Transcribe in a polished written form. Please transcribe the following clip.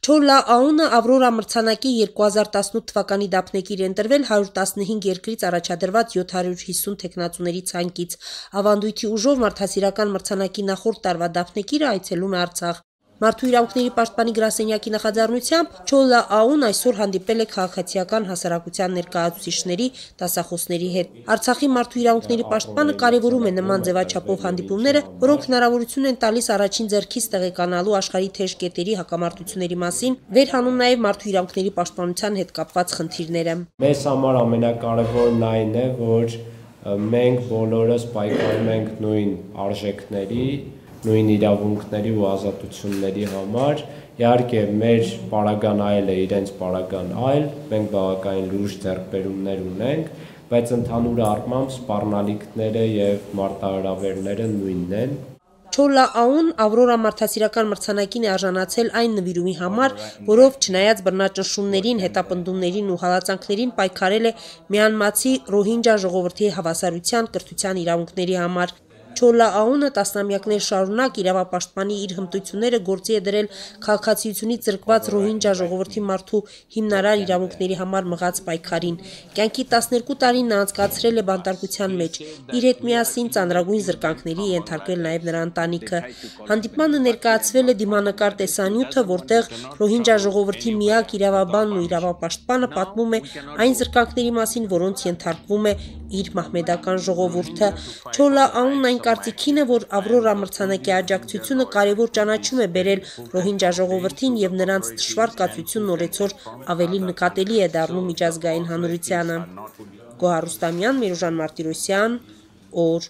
Չոլլա Աունը Ավրորա մրցանակի 2018 թվականի դափնեկիր է ընտրվել 115 երկրից առաջադրված 750 թեկնածուների ցանկից։ Ավանդույթի ուժով մարդասիրական մրցանակի նախորդ տարվա դափնեկիրը այցելում է Արցախ։ Մարդու իրավունքների պաշտպանի գրասենյակի նախաձեռնությամբ Չոլլա Աուն այսօր հանդիպել է քաղաքացիական հասարակության ներկայացուցիչների, դասախոսների հետ։ Արցախի մարդու իրավունքների պաշտպանը կարևորում է նման ձևաչափով հանդիպումները, որոնք հնարավորություն են տալիս առաջին ձեռքից տեղեկանալու աշխարհի թեժ կետերի հակամարտությունների մասին, վերհանում նաև մարդու իրավունքների պաշտպանության հետ կապված խնդիրները։ Մեզ համար ամենակարևորն այն է, որ մենք բոլորս պայքարում ենք նույն արժեքների, նույն իրավունքների ու ազատությունների համար։ Իհարկե մեր պարագան այլ է, իրենց պարագան այլ, մենք բավականին լուրջ ձեռքբերումներ ունենք, բայց ընդհանուր առմամբ սպառնալիքները եւ մարտահրավերները նույնն են։ Չոլլա Աուն Ավրորա մարդասիրական մրցանակին է արժանացել այն նվիրումի համար, որով չնայած բռնաճնշումներին, հետապնդումներին ու հալածանքներին պայքարել է Մյանմացի ռոհինջա ժողովրդի հավասարության, կրթության իրավունքների համար։ Չոլլա Աունը տասնամյակներ շարունակ իրավապաշտպանի իր հմտությունները գործի է դրել քաղաքացիությունից զրկված ռոհինջա ժողովրդի մարդու հիմնարար իրավունքների համար մղած պայքարին։ Կյանքի 12 տարին նա անցկացրել է բանտարկության մեջ, իր հետ միասին ծանրագույն զրկանքների ենթարկվել նաև նրա ընտանիքը։ Հանդիպմանը ներկայացվել է դիմանկար տեսանյութը, որտեղ ռոհինջա ժողովրդի միակ իրավաբանն ու իրավապաշտպանը պատմում է այն զրկանքների մասին, որոնց ենթարկվում է իր մահմեդական ժողովուրդը։ Չոլլա Աունն այն կարծիքին է, որ Ավրորա մրցանակի աջակցությունը կարևոր ճանաչում է բերել ռոհինջա ժողովրդին եւ նրանց դժվար կացությունն օրեցօր ավելի նկատելի է դառնում միջազգային հանրությանը։ Գոհար Ռուստամյան, Միրուժան Մարտիրոսյան, օր